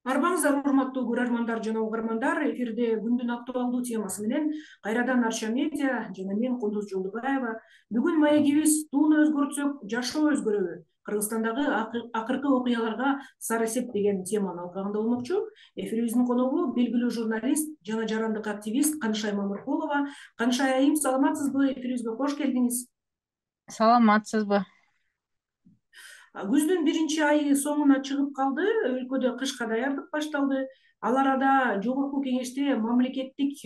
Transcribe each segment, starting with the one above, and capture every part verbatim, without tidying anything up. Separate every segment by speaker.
Speaker 1: Арбаңыздар урматтуу көрөрмандар жана угармандар, эфирде күндүн актуалдуу темасы менен кайрадан Арча медиа жана мен Кундуз Жолдубаева. Бүгүн маегибиз тууну өзгөртсөк жашоо өзгөрөбү? Кыргызстандагы акыркы окуяларга сары эсеп деген теманын алкагында болмокчу. Эфирибиздин коногу белгилүү журналист жана жарандык активист Канышай Мамыркулова. Канышай айым, саламатсызбы? Эфирибизге кош келдиңиз.
Speaker 2: Саламатсызбы?
Speaker 1: Күздүн биринчи айы соңуна чыгып калды, өлкөдө кышка даярдык башталды. Ал арада жогорку кеңеште мамлекеттик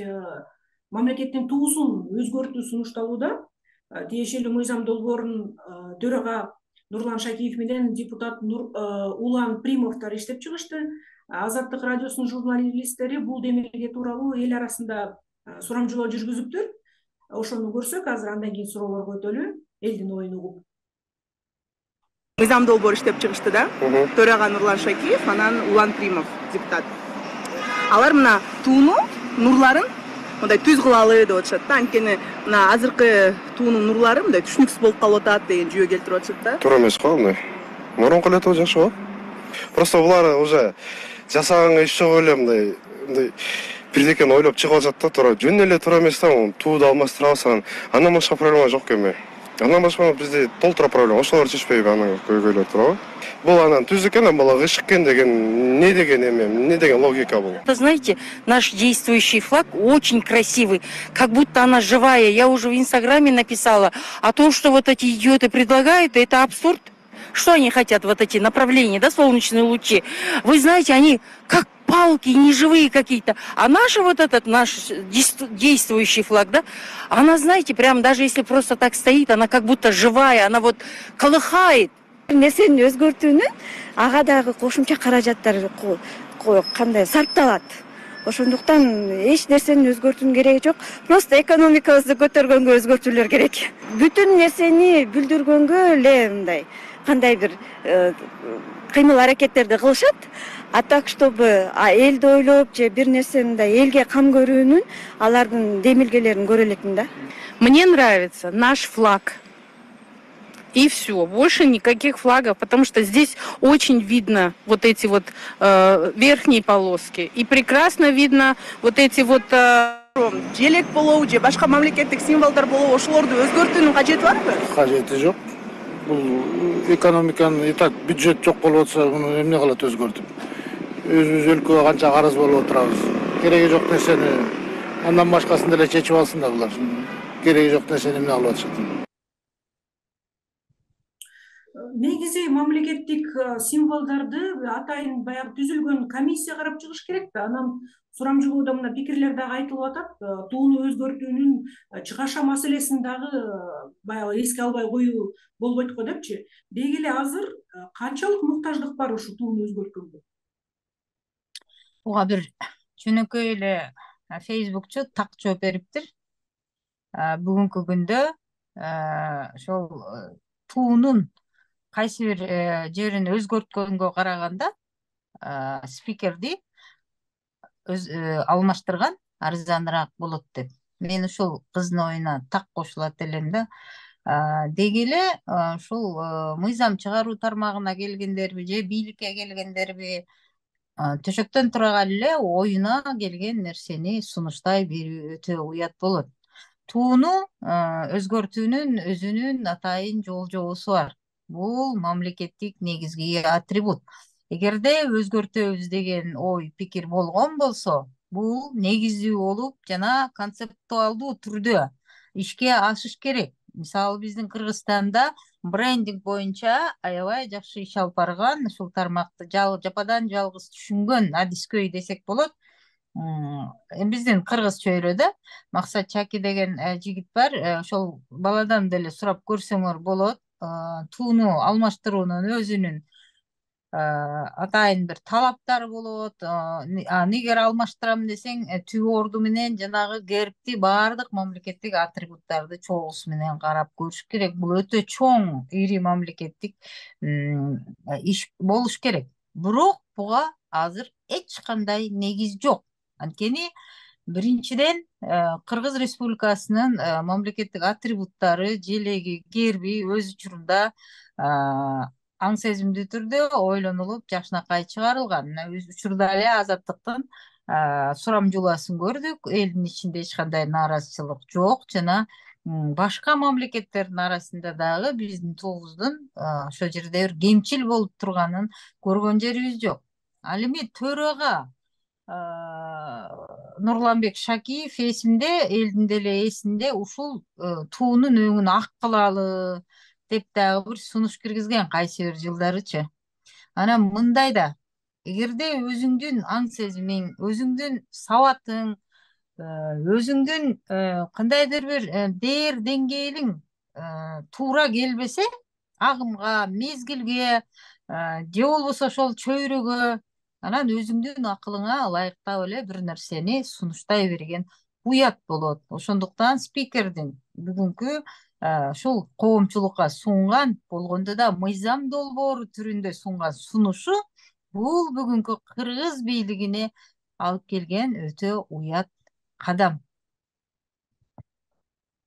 Speaker 1: мамлекеттин туусун өзгөртүү сунушталууда. Тиешелүү мыйзам долбоорун төрага Нурлан Шакиев менен депутат Улан Примовдор иштеп чыгышты. Азаттык радиосунун журналисттери бул демилге тууралуу эл арасында сурамжылоо жүргүзүптүр. Ошону көрсөк, азыр андан кийин суроолорго өтөлү, элдин оюн угуп.
Speaker 3: Мыйзам долбоор иштеп чыгышты да. Төрага Нурлан Шакиев, анан Улан Примов депутат. Алар мына тууну, нурларын мындай түз кылалы деп атышат да. Анткени мына азыркы туунун нурлары мындай түшүнүксүз болуп калып атат деген жүйө келтирип атышат да.
Speaker 4: Туура эмес го мындай. Мурунку эле жакшы го. Просто булар уже жасаганга иш жок эле мындай мындай бирдекени ойлоп чыгып атышат да. Туура жөн эле туура эмес да. Тууду алмаштырабыз, андан башка проблема жок эми. Андан башка бизде толтура проблема. Ошолор чечпейби анан көйгөйлөр туурабы? Бул анан түз экен, бала ышык экен деген не деген эме, не деген логика бул?
Speaker 5: Вы знаете, наш действующий флаг очень красивый, как будто она живая. Я уже в Инстаграме написала о том, что вот эти идиоты предлагают, это абсурд. Что они хотят, вот эти направления, да, солнечные лучи? Вы знаете, они как палки, неживые какие-то. А наш вот этот, наш действующий флаг, да, она, знаете, прям даже если просто так стоит, она как будто живая, она вот колыхает.
Speaker 6: Нерсени өзгөртүүнүн ага дагы кошумча каражаттар кандай сарпталат. Ошондуктан эч нерсени өзгөртүүнүн кереги жок. Просто экономикабызды көтөргөнгө өзгөртүүлөр керек. Бүтүн нерсени бүлдүргөнгө эле мындай кандай бир кыймыл аракеттерди кылышат. А так, чтобы элди ойлоп же бир нерсе мындай элге кам көрүүнүн алардын демилгелерин көрө электин да.
Speaker 2: Мне нравится наш флаг. И все, больше никаких флагов, потому что здесь очень видно вот эти вот э, верхние полоски. И прекрасно видно вот эти вот... Э...
Speaker 3: Желек болобу же башка мамлекеттик символдор болобу, ошолорду өзгөртүүнүн кажети барбы?
Speaker 7: Кажети жок. Бул экономиканын и так бюджет жок болуп атса, муну эмне кылат өзгөртүп? Өзүбүз өлкөгө канча карыз болуп отурабыз. Кереги жок нерсени андан башкасын деле чечип алсын да булар. Кереги жок нерсени эмне кылып атышат?
Speaker 1: Негизи мамлекеттик символдорду атайын баягы түзүлгөн комиссия карап чыгыш керек да. Анан сурамжылоодо мына пикирлер дагы айтылып атат. Тууну өзгөртүүнүн чыгаша маселесин дагы баягы эске албай коюу болбойт го депчи. Деги эле азыр канчалык муктаждык бар ушу тууну өзгөрткөнгө?
Speaker 2: Буга бир жөнөкөй эле Facebookчу так жооп бериптир. Бүгүнкү күндө ошол туунун кайсы бир жерин өзгөрткөнгө караганда спикерди алмаштырган арзаныраак болот деп. Мен ушул кыздын оюна так кошулат элем да. Деги эле ушул мыйзам чыгаруу тармагына келгендерби же бийликке келгендерби төшөктөн тура эле оюна келген нерсени сунуштай берүү өтө уят болот. Тууну өзгөртүүнүн өзүнүн атайын жол жобосу бар. Бул мамлекеттик негизги атрибут. Эгерде өзгөртөбүз деген ой, пикир болгон болсо, бул негиздүү болуп жана концептуалдуу түрдө ишке ашыш керек. Мисалы биздин Кыргызстанда брендинг боюнча аябай жакшы иш алып барган, ушул тармакты жападан жалгыз түшүнгөн адискөй десек болот. Биздин кыргыз чөйрөдө Максат Чаки деген жигит бар. Ошол баладан деле сурап көрсөңөр болот. Тууну алмаштыруунун өзүнүн атайын бир талаптары болот. Негер алмаштырам десең, түбө орду менен жанагы гербти баардык мамлекеттик атрибуттарды чогуусу менен карап көрүш керек. Бул өтө чоң, ири мамлекеттик иш болуш керек. Бирок буга азыр эч кандай негиз жок. Анткени биринчиден Кыргыз Республикасынын мамлекеттик атрибуттары, желеги, герби өз учурунда аң сезимдүү түрдө ойлонулуп жакшынакай чыгарылган. Мына учурда эле Азаттыктын сурамжууласын көрдүк. Элдин ичинде эч кандай нааразычылык жок жана башка мамлекеттердин арасында дагы биздин тобуздун ошол жерде бир кемчил болуп турганын көргөн жерибиз жок. Ал эми төрага Нурланбек Шакиев эсимде, элдин деле эсинде ушул туунун өңүн ак кылалы деп дагы бир сунуш киргизген кайсы бир жылдарычы. Анан мындай да, эгерде өзүңдүн аң сезимиң, өзүңдүн сабатың, өзүңдүн кандайдыр бир дээр деңгээлиң туура келбесе, агымга, мезгилге же болбосо ошол чөйрөгө, анан өзүңдүн акылыңа ылайыктап эле бир нерсени сунуштай берген уят болот. Ошондуктан спикердин бүгүнкү ушул коомчулукка сунган, болгондо да мыйзам долбоору түрүндө сунган сунушу бул бүгүнкү кыргыз бийлигине алып келген өтө уят кадам.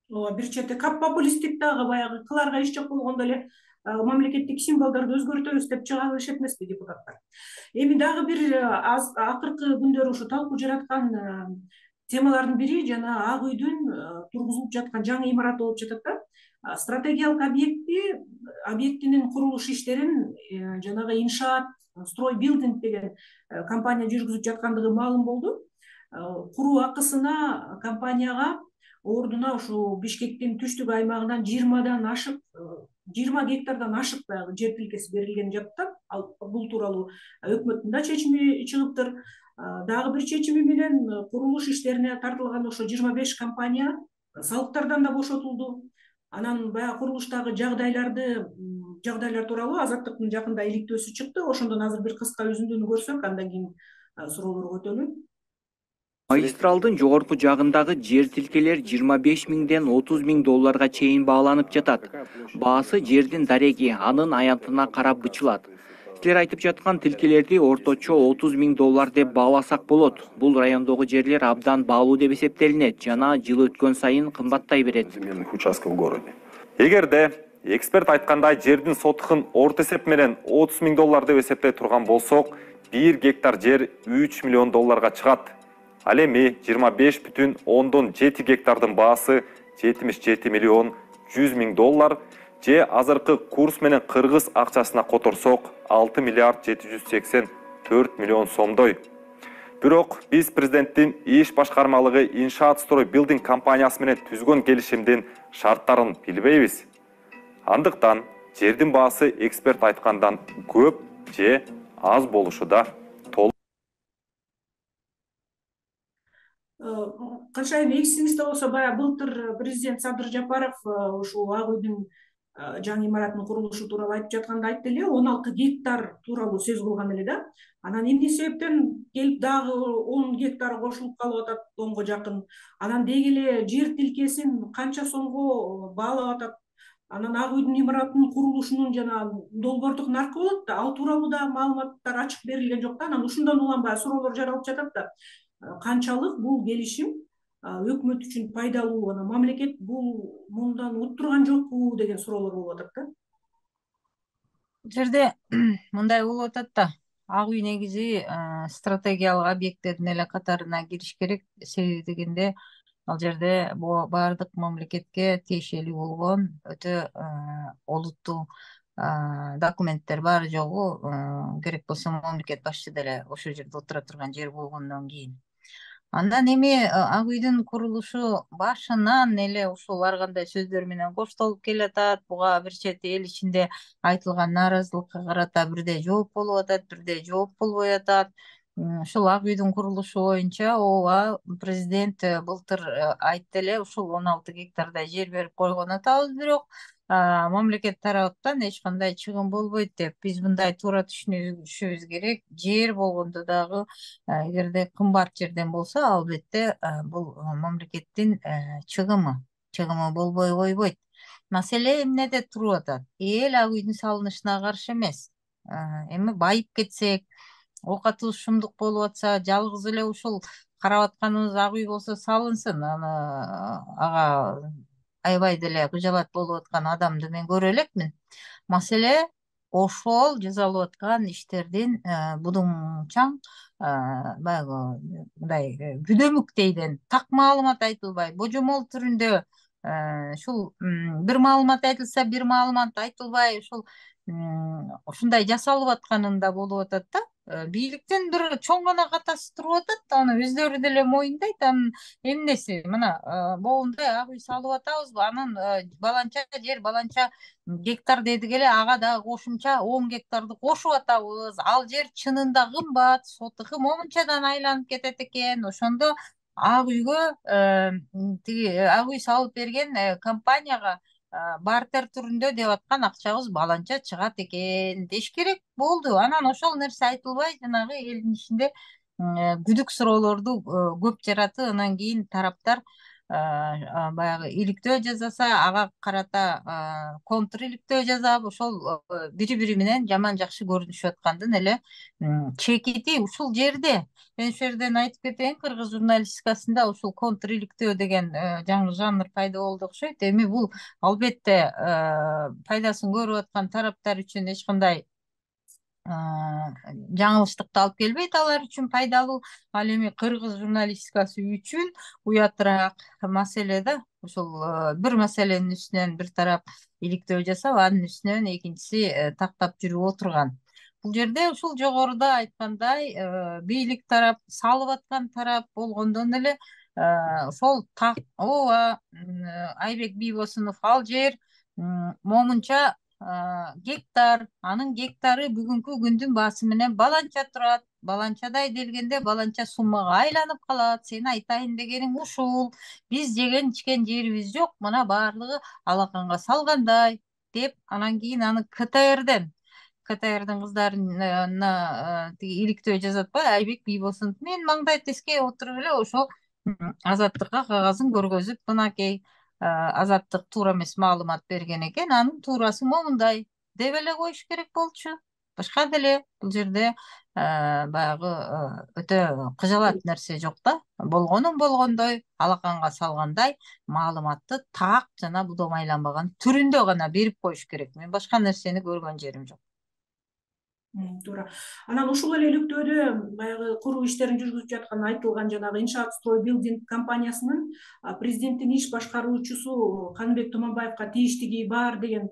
Speaker 1: Ооба, бир чети кап популисттик дагы баягы кыларга иш жок болгондо эле мамлекеттик символдорду өзгөртөбүз деп чыга алышат эмеспи депутаттар. Эми дагы бир аз акыркы күндөрү ушу талкуу жараткан темалардын бири жана Ак үйдүн тургузулуп жаткан жаңы имараты болуп жатат да. Стратегиялык объекти объектинин курулуш иштерин жанагы иншаат Строй Билдинг деген компания жүргүзүп жаткандыгы маалым болду. Куруу акысына компанияга ордуна ушу Бишкектин түштүк аймагынан жыйырмадан ашык жыйырма гектардан ашык баягы жер тилкеси берилген жатат. Ал бул тууралуу өкмөттүн да чечими чыгыптыр. Дагы бир чечими менен курулуш иштерине тартылган ошо жыйырма беш компания салыктардан да бошотулду. Анан баягы курулуштагы жагдайларды жагдайлар тууралуу Азаттыктын жакында иликтөөсү чыкты. Ошондон азыр бир кыска үзүндүнү көрсөк, андан кийин суроолорго өтөлү.
Speaker 8: Магистралдын жогорку жагындагы жер тилкелер жыйырма беш миңден отуз миң долларга чейин бааланып жатат. Баасы жердин дареги, анын аянтына карап бычылат. Силер айтып жаткан тилкелерди орточо отуз миң доллар деп бааласак болот. Бул райондогу жерлер абдан баалуу деп эсептелинет жана жыл өткөн сайын кымбаттай берет.
Speaker 9: Участков в городе. Эгерде эксперт айткандай жердин сотухун орто эсеп менен отуз миң доллар деп эсептей турган болсок, бир гектар жер үч миллион долларга чыгат. Ал эми жыйырма беш бүтүн ондон жети гектардын баасы жетимиш жети миллион жүз миң доллар же азыркы курс менен кыргыз акчасына которсок алты миллиард жети жүз сексен төрт миллион сомдой. Бирок биз президенттин иш башкармалыгы иншаат Строй Билдинг компаниясы менен түзгөн келишимдин шарттарын билбейбиз. Андыктан жердин баасы эксперт айткандан көп же аз болушу да толук.
Speaker 1: Канчайым эсиңизде болсо, баягы былтыр президент Садыр Жапаров ушул Ак үйдүн жаңы имаратынын курулушу тууралуу айтып жатканда айтты эле, он алты гектар тууралуу сөз кылган эле да. Анан эмне себептен келип дагы он гектар кошулуп калып атат, онго жакын. Анан деги эле жер тилкесин канча сомго баалап атат. Анан Ак үйдүн имаратынын курулушунун жана долбоордук наркы болот да, ал тууралуу да маалыматтар ачык берилген жок да. Анан ушундан улам баягы суроолор жаралып жатат да. Канчалык бул келишим өкмөт үчүн пайдалуу, анан мамлекет бул мындан уттурган жокпу деген суроолор болуп атат да.
Speaker 2: Бул жерде мындай болуп атат да. Ак үй негизи стратегиялык объекттердин эле катарына кириш керек. Себеби дегенде ал жерде баардык мамлекетке тиешелүү болгон өтө олуттуу документтер баары жогу, керек болсо мамлекет башчы деле ошол жерде отура турган жер болгондон кийин. Андан эми Ак үйдүн курулушу башынан эле ушул ар кандай сөздөр менен коштолуп келатат. Буга бир чети эл ичинде айтылган нааразылыкка карата бирде жооп болуп атат, бирде жооп болбой атат. Ушул Ак үйдүн курулушу боюнча ооба президент былтыр айтты эле, ушул он алты гектардай жер берип койгон атабыз, бирок мамлекет тараптан эч кандай чыгым болбойт деп. Биз мындай туура түшүнүшүбүз керек. Жер болгондо дагы эгерде кымбат жерден болсо, албетте бул мамлекеттин чыгымы, чыгымы болбой койбойт. Маселе эмнеде туруп атат? Эл Ак үйдүн салынышына каршы эмес. Эми байып кетсек, оокатыбыз шумдук болуп атса, жалгыз эле ушул карап атканыбыз Ак үй болсо салынсын. Аны ага аябай деле кыжалат болуп аткан адамды мен көрө элекмин. Маселе ошол жасалып аткан иштердин будуңчаң баягы мындай күдөмүктейден так маалымат айтылбай, божомол түрүндө ушул бир маалымат айтылса, бир маалымат айтылбай, ушул ушундай жасалып атканын да болуп атат да. Бийликтин бир чоң гана катасы туруп атат, аны өздөрү деле моюндайт. Анын эмнеси мына моундай ак үй салып атабызбы, анын баланча жер, баланча гектар дедик эле, ага дагы кошумча он гектарды кошуп атабыз. Ал жер чынында кымбат, сотуху момунчадан айланып кетет экен. Ошондо ак үйгө тиги ак үй салып берген компанияга бартер түрүндө деп аткан акчабыз баланча чыгат экен деш керек болду. Анан ошол нерсе айтылбай, жанагы элдин ичинде күдүк суроолорду көп жаратып, анан кийин тараптар баягы иликтөө жасаса, ага карата контр иликтөө жасап, ошол бири бири менен жаман жакшы көрүнүшүп аткандын эле чекити ушул жерде. Мен ушул жерден айтып кетейин, кыргыз журналистикасында ушул контр иликтөө деген жаңы жанр пайда болду окшойт. Эми бул албетте пайдасын көрүп аткан тараптар үчүн эч кандай жаңылыштыкты алып келбейт, алар үчүн пайдалуу. Ал эми кыргыз журналистикасы үчүн уятыраак маселе да. Ушул бир маселенин үстүнөн бир тарап иликтөө жасап, анын үстүнөн экинчиси тактап жүрүп отурган. Бул жерде ушул жогоруда айткандай бийлик тарап, салып аткан тарап болгондон эле ошол так ооба Айбек Бийбосунов ал жер момунча гектар, анын гектары бүгүнкү күндүн баасы менен баланча турат. Баланчадай делгенде баланча суммага айланып калат. Сен айтайын дегениң ушул. Биз жеген ичкен жерибиз жок, мына баардыгы алаканга салгандай деп, анан кийин аны КТРден КТРдин кыздарына тиги иликтөө жасатпай, Айбек Бийбосунов мен маңдай теске отуруп эле ошо Азаттыкка кагазын көргөзүп, мынакей Азаттык туура эмес маалымат берген экен, анын туурасы момундай деп эле коюш керек болчу. Башка деле бул жерде баягы өтө кыжалат нерсе жок да. Болгонун болгондой, алаканга салгандай маалыматты так жана будам айланбаган түрүндө гана берип коюш керек. Мен башка нерсени көргөн жерим жок.
Speaker 1: Туура. Анан ушул эле иликтөөдө баягы куруу иштерин жүргүзүп жаткан айтылган жанагы Иншаат строй билдинг компаниясынын президенттин иш башкаруучусу Каныбек Туманбаевка тийиштиги бар деген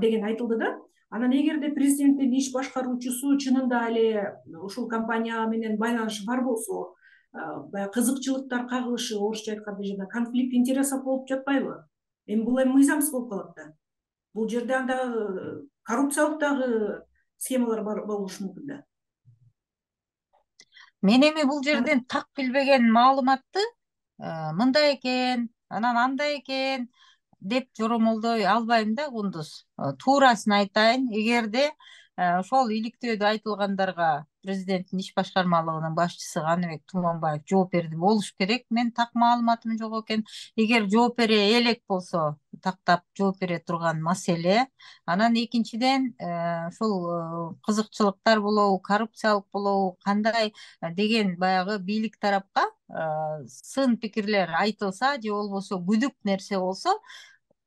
Speaker 1: деген айтылды да. Анан эгерде президенттин иш башкаруучусу чынында эле ушул компания менен байланышы бар болсо, баягы кызыкчылыктар кагылышы, орусча айтканда жана конфликт интересов болуп жатпайбы? Эми бул эми мыйзамсыз болуп калат да. Бул жерде анда коррупциялык дагы схемалар бар болушу мүмкүн да.
Speaker 2: Мен эми бул жерден так билбеген маалыматты мындай экен, анан андай экен деп жоромолдой албайм да, кундуз. Туурасын айтайын, эгерде ошол иликтөөдө айтылгандарга президенттин иш башкармалыгынын башчысы Каныбек Туманбаев жооп берди болуш керек. Мен так маалыматым жок экен. Эгер жооп бере элек болсо, тактап жооп бере турган маселе. Анан экинчиден ушул кызыкчылыктар болобу, коррупциялык болобу, кандай деген баягы бийлик тарапка сын пикирлер айтылса же болбосо күдүк нерсе болсо,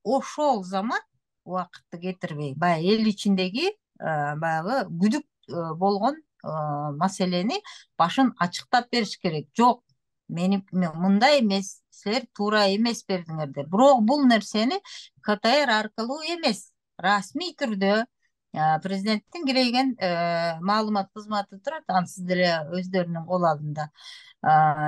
Speaker 2: ошол замат убакытты кетирбей, баягы эл ичиндеги баягы күдүк болгон маселени башын ачыктап бериш керек. Жок, мени мындай эмес, силер туура эмес бердиңердер. Бирок бул нерсени КТР аркылуу эмес, расмий түрдө президенттин кирейген маалымат кызматы турат, ансыз деле өздөрүнүн кол алдында.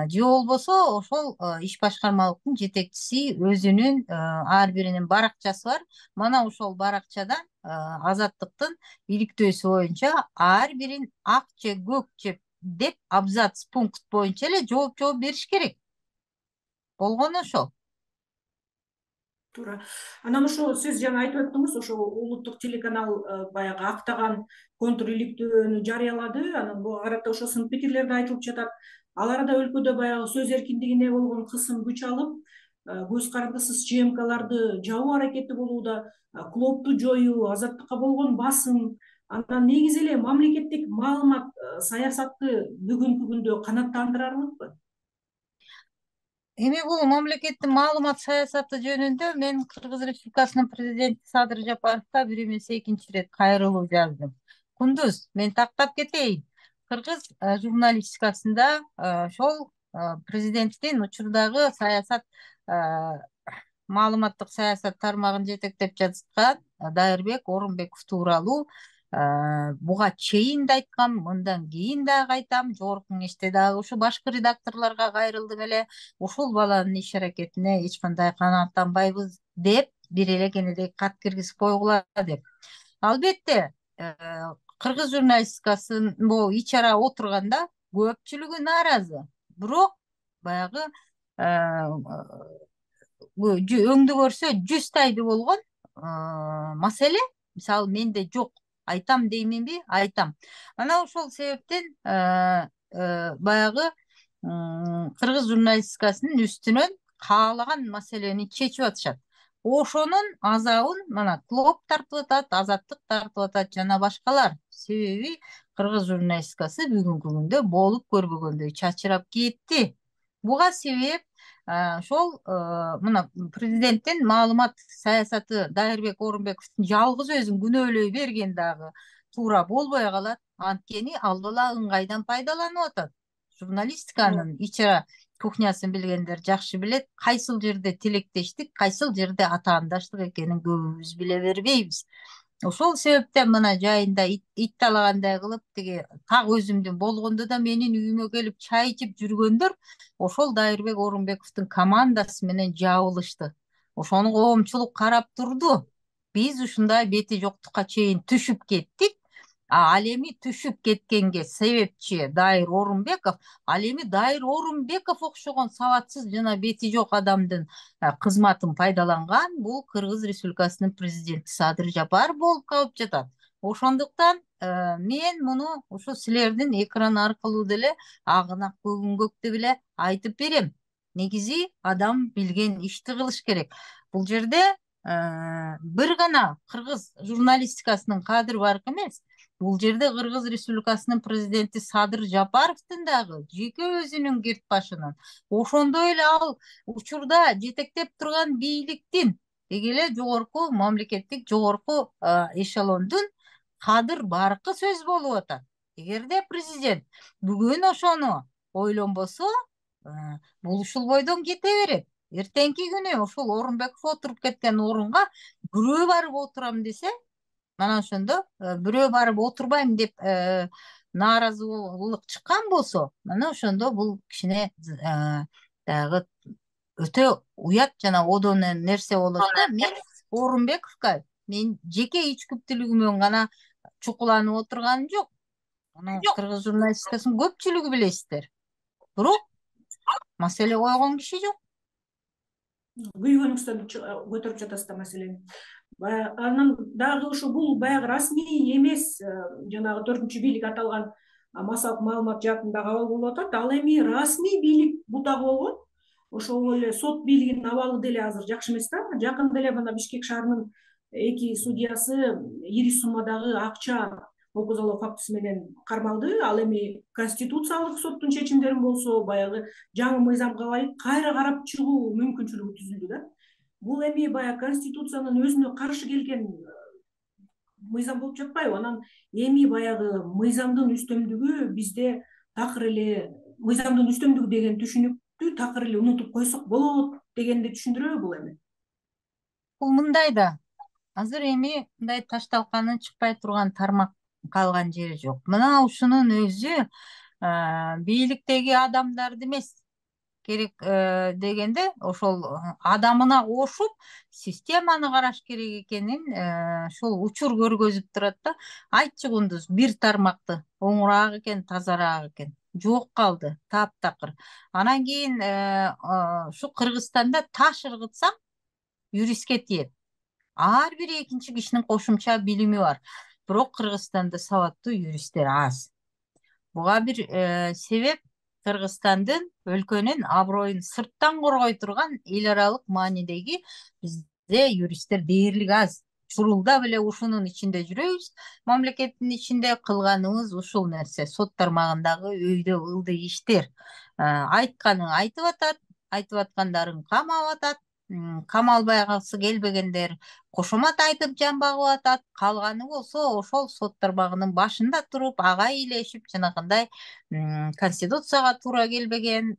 Speaker 2: Же болбосо ошол иш башкармалыктын жетекчиси өзүнүн ар биринин баракчасы бар. Мана ошол баракчадан Азаттыктын иликтөөсү боюнча ар бирин ак же көк же деп абзац пункт боюнча эле жооп жооп бериш керек. Болгону ошол.
Speaker 1: Туура. Анан ошо сиз жана айтып өттүңүз, ошо улуттук телеканал баягы актаган контр иликтөөнү жарыялады. Анан буга карата ошо сын пикирлер да айтылып жатат. Ал арада өлкөдө баягы сөз эркиндигине болгон кысым күч алып, көз карандысыз ЧМКларды жабуу аракети болууда, клубду жоюу, Азаттыкка болгон басым, анан негизи эле мамлекеттик маалымат саясатты бүгүнкү күндө канааттандырарлыкпы?
Speaker 2: Эми бул мамлекеттин маалымат саясаты жөнүндө мен Кыргыз Республикасынын президенти Садыр Жапаровго бир эмес экинчи ирет кайрылуу жаздым. Кундуз, мен тактап кетейин. Кыргыз журналистикасында ошол президенттин учурдагы саясат маалыматтык саясат тармагын жетектеп жаткан Дайырбек Орунбеков тууралуу буга чейин да айткам, мындан кийин дагы айтам, жогорку кеңеште дагы ушу башкы редакторлорго кайрылдым эле, ушул баланын иш аракетине эч кандай канааттанбайбыз деп бир эле кенедей кат киргизип койгула деп. Албетте, кыргыз журналистикасын бул ич-ара отурганда көпчүлүгү нааразы. Бирок баягы өңдү көрсө жүз тайды болгон маселе мисалы менде жок. Айтам дейминби? Айтам. Ана ошол себептен баягы кыргыз журналистикасынын үстүнөн каалаган маселени чечип атышат. Ошонун азабын мына Клоп тартып атат, Азаттык тартып атат жана башкалар. Себеби кыргыз журналистикасы бүгүнкү күндө болуп көрбөгөндөй чачырап кетти. Буга себеп ошол мына президенттин маалымат саясаты Дайырбек Орунбековдун жалгыз өзүн күнөөлөй берген дагы туура болбой калат. Анткени ал бала ыңгайдан пайдаланып атат. Журналистиканын ич-ара кухнясын билгендер жакшы билет. Кайсыл жерде тилектештик, кайсыл жерде атаандаштык экенин көбүбүз биле бербейбиз. Ошол себептен мына жайында ит талагандай кылып тиги так өзүмдүн болгондо да менин үйүмө келип чай ичип жүргөндөр ошол Дайырбек Орунбековдун командасы менен жабылышты. Ошону коомчулук карап турду. Биз ушундай бети жоктукка чейин түшүп кеттик. Ал эми түшүп кеткенге себепчи Дайыр Орунбеков, ал эми Дайыр Орунбеков окшогон сабатсыз жана бети жок адамдын кызматын пайдаланган бул Кыргыз Республикасынын президенти Садыр Жапаров болуп калып жатат. Ошондуктан мен муну ушу силердин экран аркылуу деле агынак көгүнгөктү беле айтып берем. Негизи адам билген ишти кылыш керек. Бул жерде бир гана кыргыз журналистикасынын кадыры бар эмес. Бул жерде Кыргыз Республикасынын президенти Садыр Жапаровдун дагы жеке өзүнүн кирт башынын, ошондой эле ал учурда жетектеп турган бийликтин деги эле жогорку мамлекеттик жогорку эшелондун кадыр баркы сөз болуп атат. Эгерде президент бүгүн ошону ойлонбосо, бул ушул бойдон кете берет. Эртеңки күнү ушул Орунбеков отуруп кеткен орунга бирөө барып отурам десе, мана ошондо бирөө барып отурбайм деп нааразылык чыккан болсо, мана ошондо бул кичине дагы өтө уят жана одон нерсе болот да. Мен Орунбековго мен жеке ичкүптүүлүгүмөн гана чукуланып отурганым жок. Аны кыргыз журналистикасынын көпчүлүгү билесиздер. Бирок маселе койгон киши жок.
Speaker 1: Күйгөнүңүздөн көтөрүп жатасыз да маселени. Анан дагы ошо бул баягы расмий эмес, жанагы төртүнчү бийлик аталган массалык маалымат жаатында кабыл болуп атат. Ал эми расмий бийлик бутагы болгон. Ошол эле сот бийлигинин абалы деле азыр жакшы эмес да. Жакында эле мына Бишкек шаарынын эки судьясы ири суммадагы акча окузалоо фактысы менен кармалды. Ал эми конституциялык соттун чечимдерин болсо, баягы жаңы мыйзамга ылайык кайра карап чыгуу мүмкүнчүлүгү түзүлдү да. Бул эми баягы конституциянын өзүнө каршы келген мыйзам болуп жатпайбы? Анан эми баягы мыйзамдын үстөмдүгү бизде такыр эле мыйзамдын үстөмдүгү деген түшүнүктү такыр эле унутуп койсок болот дегенди түшүндүрөбү бул эми?
Speaker 2: Бул мындай да. Азыр эми мындай ташталканын чыкпай турган тармак калган жери жок. Мына ушунун өзү бийликтеги адамдарды эмес керек дегенде ошол адамына кошуп системаны караш керек экенин ошол учур көргөзүп турат да. Айтчы Кундуз, бир тармакты оңураак экен, тазараак экен. Жок калды, таптакыр. Анан кийин ушу Кыргызстанда таш ыргытсаң юристке тиет. Ар бир экинчи кишинин кошумча билими бар. Бирок Кыргызстанда сабаттуу юристтер аз. Буга бир себеп Кыргызстандын өлкөнүн аброюн сырттан коргой турган эл аралык маанидеги бизде юристтер дээрлик аз. Чурулда беле ушунун ичинде жүрөбүз. Мамлекеттин ичинде кылганыбыз ушул нерсе. Сот тармагындагы өйдө ылдый иштер. Айтканын айтып атат, айтып аткандарын камап атат, камалбайгысы келбегендер кошомат айтып жан багып атат, калганы болсо ошол сот тармагынын башында туруп ага илешип жанагындай конституцияга туура келбеген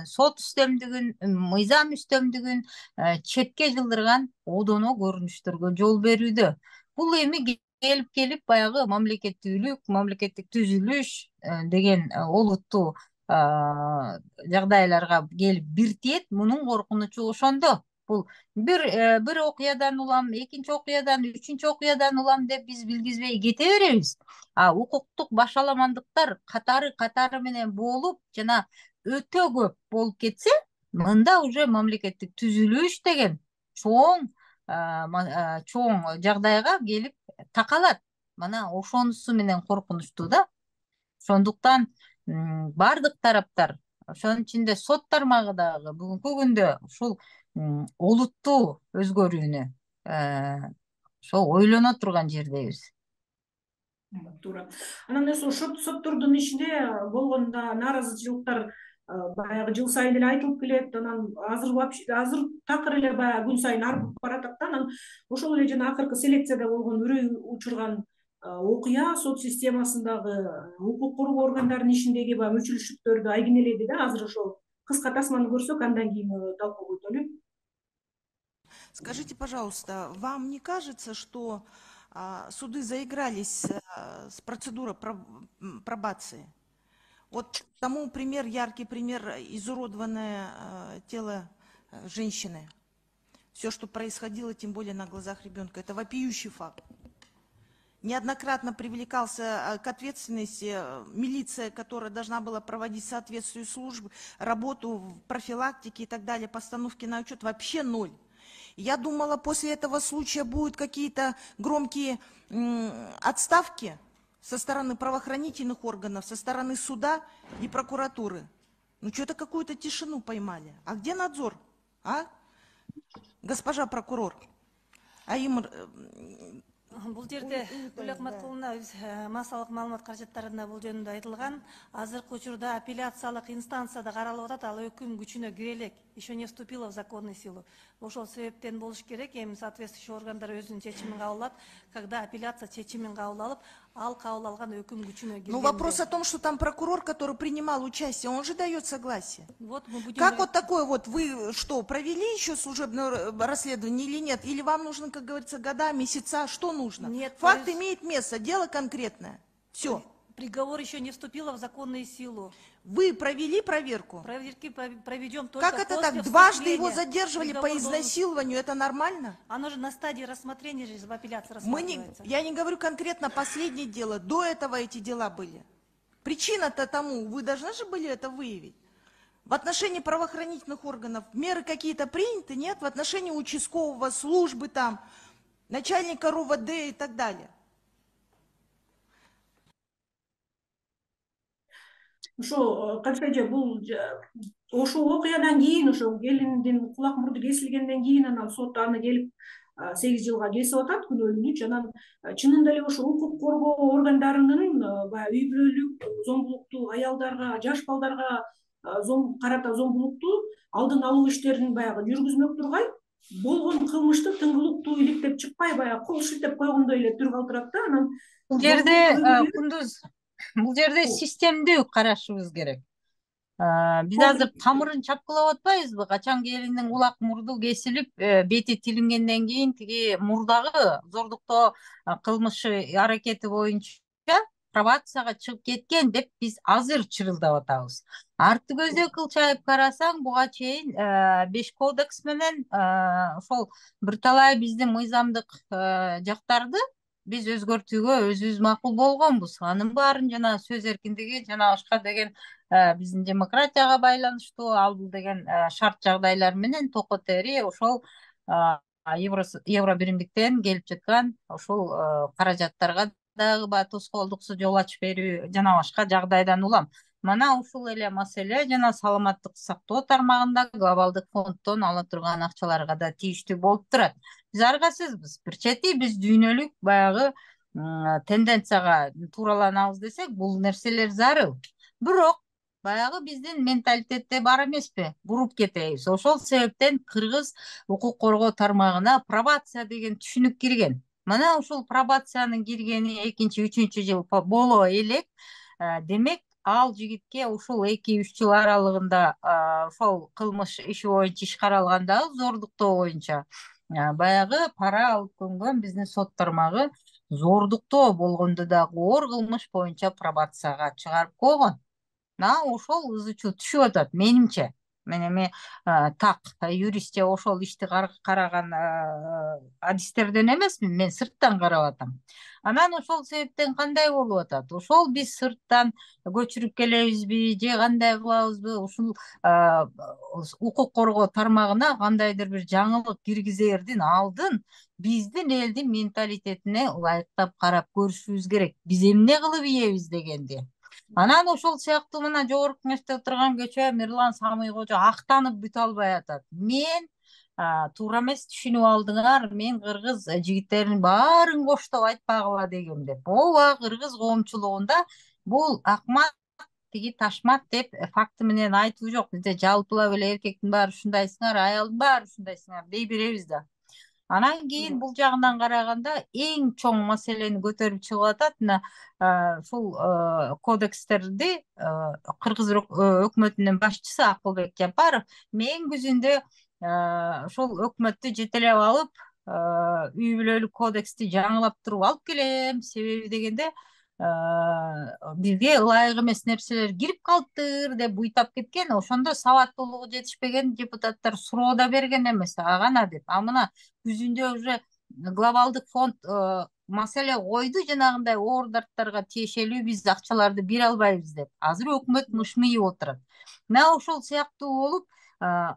Speaker 2: сот үстөмдүгүн, мыйзам үстөмдүгүн четке жылдырган одоно көрүнүштөргө жол берүүдө. Бул эми келип келип баягы мамлекеттүүлүк, мамлекеттик түзүлүш деген олуттуу жагдайларга келип бир тиет. Мунун коркунучу ошондо. Бул бир бир окуядан улам, экинчи окуядан, үчүнчү окуядан улам деп биз билгизбей кете беребиз. А укуктук башаламандыктар катары катары менен болуп, жана өтө көп болуп кетсе, мында уже мамлекеттик түзүлүш деген чоң чоң жагдайга келип такалат. Мана ошонусу менен коркунучтуу да. Ошондуктан бардык тараптар, ошонун ичинде сот тармагы дагы бүгүнкү күндө ушул олуттуу өзгөрүүнү ошо ойлоно турган жердебиз.
Speaker 1: Туура. Анан эс ошо соттордун ишинде болгон да нааразычылыктар баягы жыл сайын эле айтылып келет. Анан азыр вообще азыр такыр эле баягы күн сайын арып баратат да. Анан ошол эле жана акыркы селекцияда болгон үрөй учурган окуя сот системасындагы укук коргоо органдарынын ишиндеги баягы мүчүлүштүктөрдү айгинеледи да. Азыр ошол кыска тасманы көрсөк, андан кийин талкууга өтөлү.
Speaker 10: Скажите, пожалуйста, вам не кажется, что а, суды заигрались а, с процедурой пробации? Вот тому пример, яркий пример, изуродованное а, тело а, женщины. Все, что происходило, тем более на глазах ребенка, это вопиющий факт. Неоднократно привлекался к ответственности милиция, которая должна была проводить соответствующие службы, работу в профилактике и так далее, постановки на учет, вообще ноль. Я думала, после этого случая будут какие-то громкие отставки со стороны правоохранительных органов, со стороны суда и прокуратуры. Ну, что-то какую-то тишину поймали. А где надзор, а? Госпожа прокурор. А им...
Speaker 11: Бул жерде Гүл Акматкуловна өз массалык маалымат каражаттарында бул жөнүндө айтылган. Азыркы учурда апелляциялык инстанцияда каралып атат, ал өкүм күчүнө кире элек, еще не вступила в законную силу. Ошол себептен болуш керек, эми соответствующий органдар өзүнүн чечимин кабыл алат, когда апелляция чечимин кабыл алып, ал кабыл алган өкүм күчүнө киргенде.
Speaker 10: Ну, вопрос о том, что там прокурор, который принимал участие, он же дает согласие.
Speaker 11: Вот мы будем...
Speaker 10: Как вот такое вот, вы что, провели еще служебное расследование или нет? Или вам нужно, как говорится, года, месяца, что нужно?
Speaker 11: Нет.
Speaker 10: Факт
Speaker 11: есть...
Speaker 10: имеет место, дело конкретное. Все.
Speaker 11: Приговор еще не вступила в законную силу.
Speaker 10: Вы провели проверку?
Speaker 11: Проверки проведем только
Speaker 10: Как это
Speaker 11: после
Speaker 10: так? Дважды его
Speaker 11: вступления.
Speaker 10: задерживали
Speaker 11: Приговор
Speaker 10: по изнасилованию, это нормально?
Speaker 11: Оно же на стадии рассмотрения же в апелляции
Speaker 10: Мы не,
Speaker 11: рассматривается.
Speaker 10: я не говорю конкретно последнее дело, до этого эти дела были. Причина-то тому, вы должны же были это выявить. В отношении правоохранительных органов меры какие-то приняты, нет? В отношении участкового, службы там, начальника РОВД и так далее.
Speaker 1: Ошо кантсе бул ошо окуядан кийин, ошо келиндин кулак мурду кесилгенден кийин анан сот аны келип сегиз жылга кесип атат күнөөлүүнү. Анан чынында эле ошо укук коргоо органдарынын баягы үй бүлөлүк зомбулуктуу аялдарга, жаш балдарга карата зомбулукту алдын алуу иштерин баягы жүргүзмөк тургай, болгон кылмышты тыңгылыктуу иликтеп чыкпай, баягы кол шилтеп койгондой эле түр калтырат да. Анан
Speaker 2: бул жерде Кундуз, бул жерде системдүү карашыбыз керек. Биз азыр тамырын чапкылап атпайбызбы? Качан келиндин кулак мурду кесилип, бети тилингенден кийин тиги мурдагы зордуктоо кылмышы аракети боюнча пробацияга чыгып кеткен деп биз азыр чырылдап атабыз. Арты көздөй кылчайып карасаң, буга чейин беш кодекс менен ошол бир талай биздин мыйзамдык жактарды биз өзгөртүүгө өзүбүз макул болгонбуз. Анын баарын жана сөз эркиндиги, жана башка деген биздин демократияга байланыштуу, ал бул деген шарт жагдайлар менен токот эри ошол евро биримдиктен келип жаткан ошол каражаттарга дагы баягы тоскоолдуксуз жол ачып берүү жана башка жагдайдан улам. Мана ушул эле маселе жана саламаттык сактоо тармагында глобалдык фонддон ала турган акчаларга да тийиштүү болуп турат. Биз аргасызбыз. Бир чети биз дүйнөлүк баягы тенденцияга туураланабыз десек, бул нерселер зарыл. Бирок баягы биздин менталитетте бар эмеспи, буруп кетебиз. Ошол себептен кыргыз укук коргоо тармагына пробация деген түшүнүк кирген. Мына ушул пробациянын киргени экинчи, үчүнчү жыл боло элек. Демек, ал жигитке ушул эки үч жыл аралыгында ошол кылмыш иши боюнча иш каралгандагы зордуктоо боюнча баягы пара алып көнгөн биздин сот тармагы зордуктоо болгондо дагы оор кылмыш боюнча пробацияга чыгарып койгон. Мына ошол ызы чуу түшүп атат менимче. Мен эми так юрист же ошол ишти караган адистерден эмесмин, мен сырттан карап атам. Анан ошол себептен кандай болуп атат? Ошол биз сырттан көчүрүп келебизби же кандай кылабызбы? Ушул укук коргоо тармагына кандайдыр бир жаңылык киргизердин алдын биздин элдин менталитетине ылайыктап карап көрүшүбүз керек. Биз эмне кылып ийебиз дегенди. Анан ошол сыяктуу мына жогорку кеңеште отурган көчөм Эрлан Самый кожо актанып бүтө албай атат. Мен туура эмес түшүнүп алдыңар, мен кыргыз жигиттеринин баарын коштоп айтпагыла дегем деп. Ооба, кыргыз коомчулугунда бул акмак, тиги ташмат деп факты менен айтуу жок. Бизде жалпылап эле эркектин баары ушундайсыңар, аялдын баары ушундайсыңар дей беребиз да. Анан кийин бул жагынан караганда эң чоң маселени көтөрүп чыгып атат. Мына ушул кодекстерди кыргыз өкмөтүнүн башчысы Акылбек Жапаров мен күзүндө ошол өкмөттү жетелеп алып, үй бүлөлүк кодексти жаңылап туруп алып келем. Себеби дегенде бизге ылайык эмес нерселер кирип калыптыр деп буйтап кеткен. Ошондо сабаттуулугу жетишпеген депутаттар суроо да берген эмес, агана деп. А мына күзүндө уже глобалдык фонд маселе койду, жанагындай оор дарттарга тиешелүү биз акчаларды бере албайбыз деп. Азыр өкмөт мышмыйып отурат. Мына ошол сыяктуу болуп,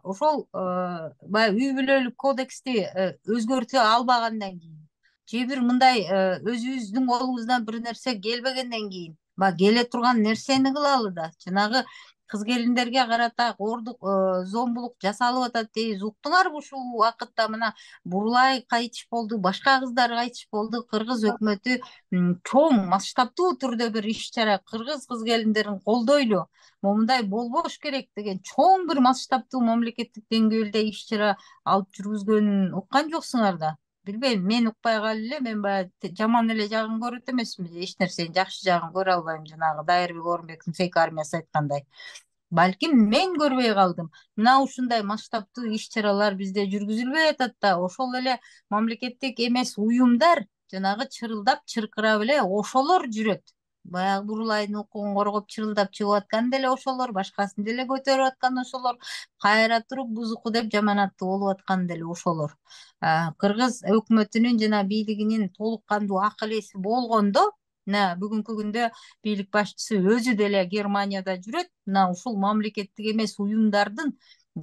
Speaker 2: ошол баягы үй бүлөлүк кодексти өзгөртө албагандан кийин же бир мындай өзүбүздүн колубуздан бир нерсе келбегенден кийин баягы келе турган нерсени кылалы да. Жанагы кыз келиндерге карата оордук зомбулук жасалып атат дейбиз. Уктуңарбы ушул убакытта мына Бурулай кайтыш болду, башка кыздар кайтыш болду. Кыргыз өкмөтү чоң масштабтуу түрдө бир иш чара кыргыз кыз келиндерин колдойлу, момундай болбош керек деген чоң бир масштабтуу мамлекеттик деңгээлде иш чара алып жүргүзгөнүн уккан жоксуңар да. Билбейм, мен укпай калып эле, мен баягы жаман эле жагын көрөт эмесмин, эч нерсенин жакшы жагын көрө албайм, жанагы Дайырбек Орунбектин фейк армиясы айткандай. Балким мен көрбөй калдым. Мына ушундай масштабтуу иш чаралар бизде жүргүзүлбөй атат да. Ошол эле мамлекеттик эмес уюмдар жанагы чырылдап, чыркырап эле ошолор жүрөт. Баягы Бурулайдын укугун коргоп чырылдап чыгып аткан деле ошолор, башкасын деле көтөрүп аткан ошолор, кайра туруп бузуку деп жаманаттуу болуп аткан деле ошолор. Кыргыз өкмөтүнүн жана бийлигинин толук кандуу акыл эси болгондо, мына бүгүнкү күндө бийлик башчысы өзү деле Германияда жүрөт. Мына ушул мамлекеттик эмес уюмдардын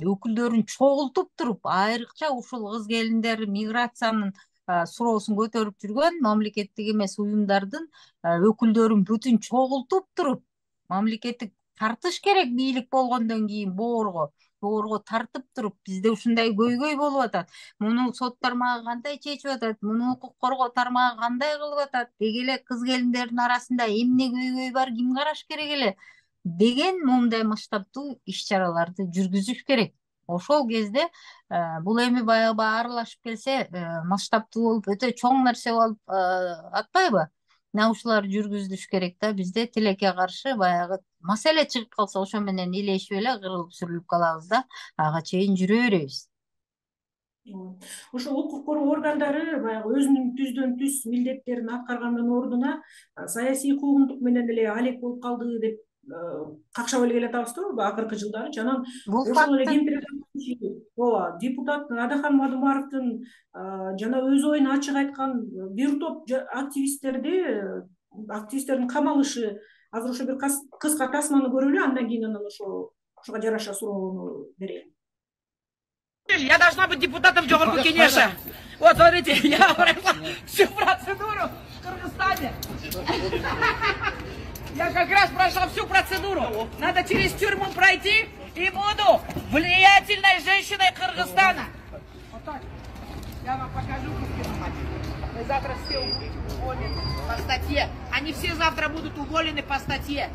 Speaker 2: өкүлдөрүн чогултуп туруп, айрыкча ушул кыз келиндер миграциянын суроосун көтөрүп жүргөн мамлекеттик эмес уюмдардын өкүлдөрүн бүтүн чогултуп туруп, мамлекеттик тартыш керек бийлик болгондон кийин боорго, боорго тартып туруп, бизде ушундай көйгөй болуп атат. Муну сот тармагы кандай чечип атат, муну укук коргоо тармагы кандай кылып атат, деги эле кыз келиндердин арасында эмне көйгөй бар, ким караш керек эле деген момундай масштабтуу иш чараларды жүргүзүш керек. Ошол кезде бул эми баягы аралашып келсе, масштабтуу болуп, өтө чоң нерсе болуп атпайбы? Мына ушулар жүргүзүлүш керек да. Бизде тилекке каршы баягы маселе чыгып калса, ошо менен илешип эле кырылып сүрүлүп калабыз да, ага чейин жүрө беребиз.
Speaker 1: Ошол укук коргоо органдары баягы өзүнүн түздөн түз милдеттерин аткаргандын ордуна саясий куугунтук менен эле алек болуп калды деп какшап эле келатабыз да акыркы жылдары. Жанагы ошол эле кемпир ооба депутат Адахан Мадумаровдун жана өз оюн ачык айткан бир топ активисттерди активисттердин камалышы, азыр ошо бир кыска тасманы көрөлү, андан кийин анан ошо ошого жараша суроону берейин.
Speaker 12: Я должна быть депутатом жогорку кеңеши. Вот, смотрите, я прошла всю процедуру в Кыргызстане. Я как раз прошла всю процедуру. Надо через тюрьму пройти и буду влиятельной женщиной Кыргызстана. Вот так. Я вам покажу. Мы завтра все уволены по статье. Они все завтра будут уволены по статье.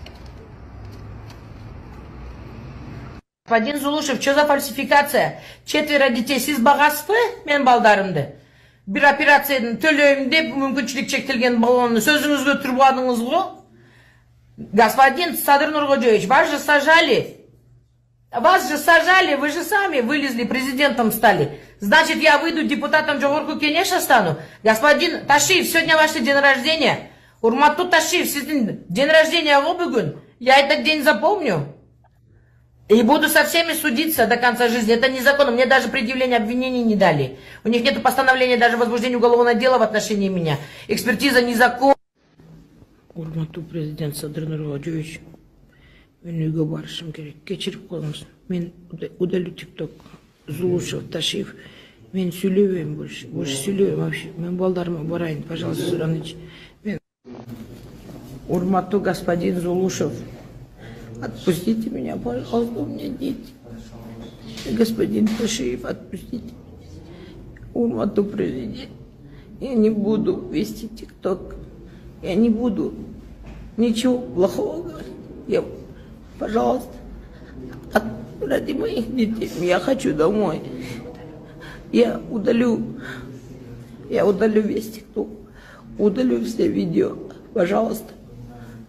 Speaker 12: Господин Зулушев, что за фальсификация? Четверо детей сиз багасызбы мен балдарымды? Бир операцияны төлөйм деп мүмкүнчүлүк чектелген баланы сөзүңүзгө турбадыңыз го? Господин Садыр Нуркожоевич, вас же сажали. Вас же сажали, вы же сами вылезли, президентом стали. Значит, я выйду депутатом Жогорку Кенеша стану? Господин Ташиев, сегодня ваш день рождения. Урматтуу Ташиев, сиздин день рождения го бүгүн. Я этот день запомню. И буду со всеми судиться до конца жизни. Это незаконно. Мне даже предъявление обвинений не дали. У них нет постановления даже возбуждения уголовного дела в отношении меня. Экспертиза незаконна. Урматтуу президент Садыр Нуркожоевич, мен үйгө барышым керек. Кечирип коюңуз. Мен удалю ТикТок. Зулушев, Ташиев. Мен сүйлөбөйм больше. Больше сүйлөбөйм вообще. Мен балдарыма барайын, пожалуйста, Сураныч. Мен... Урматтуу господин Зулушев, отпустите меня, пожалуйста, у меня дети. Господин Ташиев, отпустите меня. Урматтуу президент, я не буду вести ТикТок. Я не буду ничего плохого говорить. Я, пожалуйста, от, ради моих детей, я хочу домой. Я удалю, я удалю весь ТикТок, удалю все видео. Пожалуйста,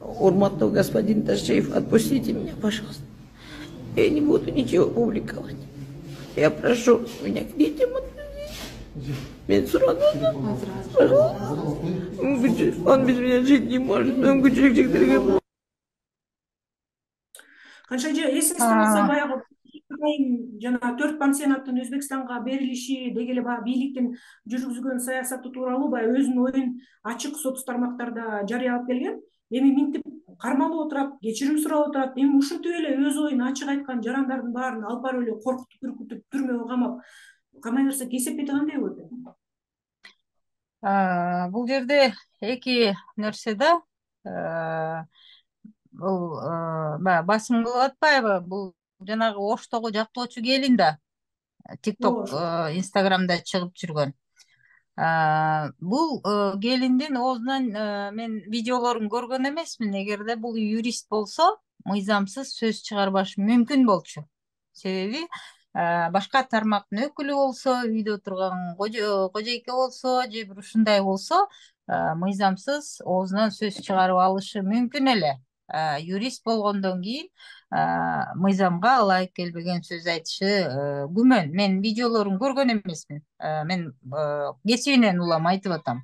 Speaker 12: урматтуу господин Ташиев, отпустите меня, пожалуйста. Я не буду ничего публиковать. Я прошу меня к детям отпустить. Мен сурадым. Он без меня жить не может. Мүмкүнчүлүк чектелген.
Speaker 1: Канша же эсиңизде болсо баягы жана төрт пансионаттын Өзбекстанга берилиши деги эле баягы бийликтин жүргүзгөн саясаты тууралуу баягы өзүнүн оюн ачык соц тармактарда жарыялап келген. Эми минтип кармалып отурат, кечирим сурап отурат. Эми ушинтип эле өз оюн ачык айткан жарандардын баарын алып барып эле коркутуп, үркүтүп, түрмөгө камап, камай берсек эсептейт кандай болот?
Speaker 2: Бул жерде эки нерсе да. Бул баягы басым кылып атпайбы? Бул жанагы Оштогу жактоочу келин да. ТикТок, Инстаграмда чыгып жүргөн. Бул келиндин оозунан мен видеолорун көргөн эмесмин. Эгерде бул юрист болсо, мыйзамсыз сөз чыгарбашы мүмкүн болчу. Себеби башка тармактын өкүлү болсо, үйдө турган кожойке болсо, же бир ушундай болсо, мыйзамсыз оозунан сөз чыгарып алышы мүмкүн эле. Юрист болгондон кийин мыйзамга ылайык келбеген сөз айтышы күмөн. Мен видеолорун көргөн эмесмин. Мен кесибинен улам айтып атам.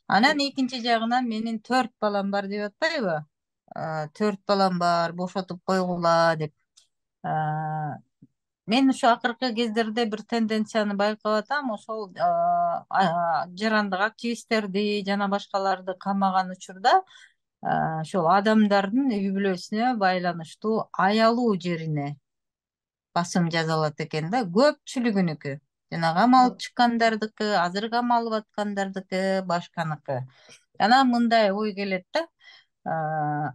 Speaker 2: Анан экинчи жагынан менин төрт балам бар деп атпайбы? Төрт балам бар, бошотуп койгула деп. Мен ушу акыркы кездерде бир тенденцияны байкап атам. Ошол жарандык активисттерди жана башкаларды камаган учурда ошол адамдардын үй бүлөсүнө байланыштуу аялуу жерине басым жазалат экен да. Көпчүлүгүнүкү. Жана камалып чыккандардыкы, азыр камалып аткандардыкы, башканыкы. Анан мындай ой келет да.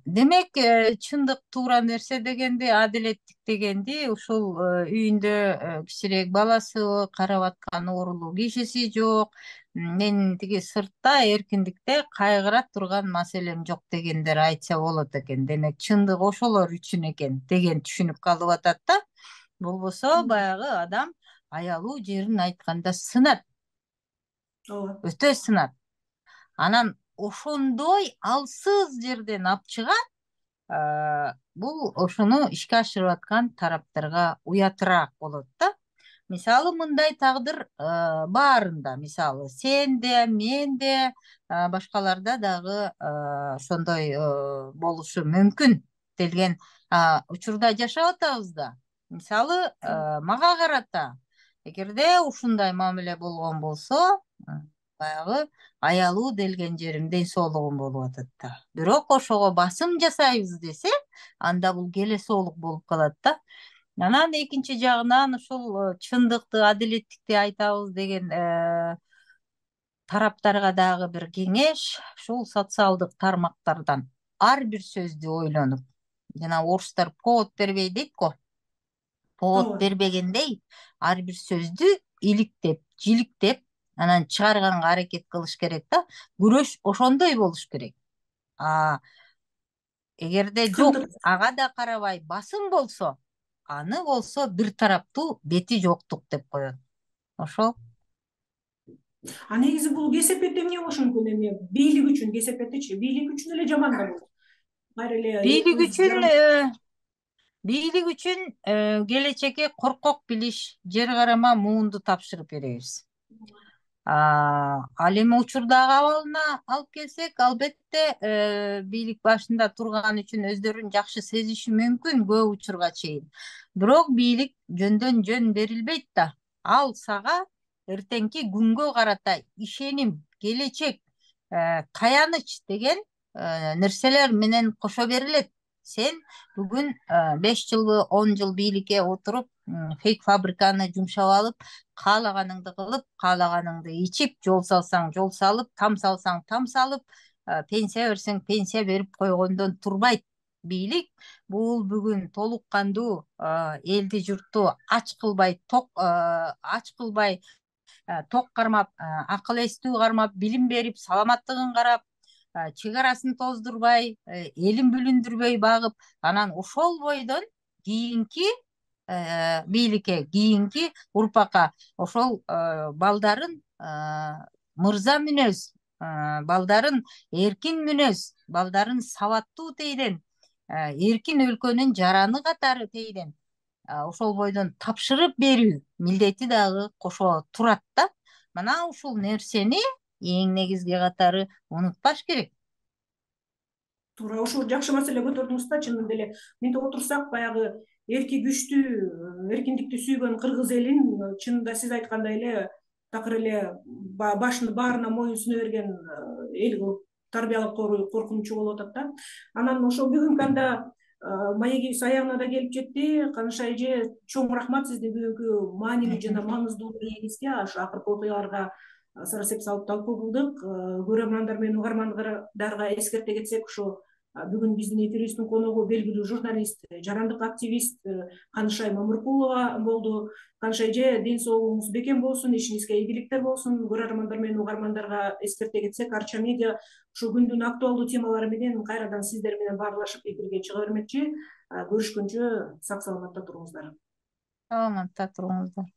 Speaker 2: Демек, чындык туура нерсе дегенди, адилеттик дегенди, ушул үйүндө кичирээк баласы, карап аткан оорулуу кишиси жок, мен тиги сыртта эркиндикте кайгыра турган маселем жок дегендер айтса болот экен. Демек, чындык ошолор үчүн экен деген түшүнүп калып атат да. Болбосо баягы адам аялуу жерин айтканда сынат. Өтө сынат. Анан ошондой алсыз жерден алып чыгат, бул ошону ишке ашырып аткан тараптарга уятыраак болот да. Мисалы, мындай тагдыр баарында, мисалы, сен де, мен де, башкаларда дагы ошондой болушу мүмкүн делген учурда жашап атабыз да. Мисалы, мага карата, эгерде ушундай мамиле болгон болсо, баягы аялуу делген жерим ден соолугум болуп атат да. Бирок ошого басым жасайбыз десе, анда бул келе соолук болуп калат да. Анан экинчи жагынан ушул чындыкты, адилеттикти айтабыз деген тараптарга дагы бир кеңеш, ушул социалдык тармактардан ар бир сөздү ойлонуп, жана орустар повод бербей дейт го. Повод бербегендей, ар бир сөздү иликтеп, жиликтеп, анан чыгарганга аракет кылыш керек да. Күрөш ошондой болуш керек. А эгерде жок, ага да карабай басым болсо, аны болсо бир тараптуу бети жоктук деп коет. Ошол.
Speaker 1: А негизи бул кесепетте эмне болушу мүмкүн? Эми бийлик үчүн кесепеттичи, бийлик үчүн эле жаман да бул. Кайра эле
Speaker 2: Бийлик үчүн бийлик үчүн келечекке коркок билиш, жер карама муунду тапшырып беребиз. Ал эми учурдагы абалына алып келсек, албетте бийлик башында турган үчүн өздөрүн жакшы сезиши мүмкүн көп учурга чейин. Бирок бийлик жөндөн жөн берилбейт да. Ал сага эртеңки күнгө карата ишеним, келечек, каяныч деген нерселер менен кошо берилет. Сен бүгүн беш жылбы, он жыл бийликке отуруп, фейк фабриканы жумшап алып, каалаганыңды кылып, каалаганыңды ичип, жол салсаң жол салып, там салсаң там салып, пенсия берсең пенсия берип койгондон турбайт. Бийлик бул бүгүн толук кандуу элди журтту ач кылбай, ток ач кылбай, ток кармап, акыл эстүү кармап, билим берип, саламаттыгын карап, чек арасын тоздурбай, элин бүлүндүрбөй багып, анан ошол бойдон кийинки бийликке, кийинки урпакка ошол балдарын мырза мүнөз, балдарын эркин мүнөз, балдарын сабаттуу тейден, эркин өлкөнүн жараны катары тейден ошол бойдон тапшырып берүү милдети дагы кошо турат да. Мына ушул нерсени эң негизги катары унутпаш керек.
Speaker 1: Туура, ушул жакшы маселе көтөрдүңүз да, чынында эле. Мынтип отурсак, баягы эрки күчтүү, эркиндикти сүйгөн кыргыз элин чынында сиз айткандай эле такыр эле башын баарына моюн суна берген эл кылып тарбиялап коруу коркунучу болуп атат да. Анан ошол бүгүнкү анда маегибиз аягына да келип жетти. Каныша эже, чоң рахмат сизди бүгүнкү маанилүү жана маңыздуу маегибизге, ошо акыркы окуяларга сарасеп салып талкуу кылдык. Көрөрмандар менен угармандарга эскерте кетсек, ошо бүгүн биздин эфирибиздин коногу белгилүү журналист, жарандык активист Канышай Мамыркулова болду. Каныша эже, ден соолугуңуз бекем болсун, ишиңизге ийгиликтер болсун. Көрөрмандар менен угармандарга эскерте кетсек, Арча медиа ушу күндүн актуалдуу темалары менен кайрадан сиздер менен баарлашып эфирге чыга бермекчи. Көрүшкөнчө сак саламатта туруңуздар.
Speaker 2: Саламатта туруңуздар.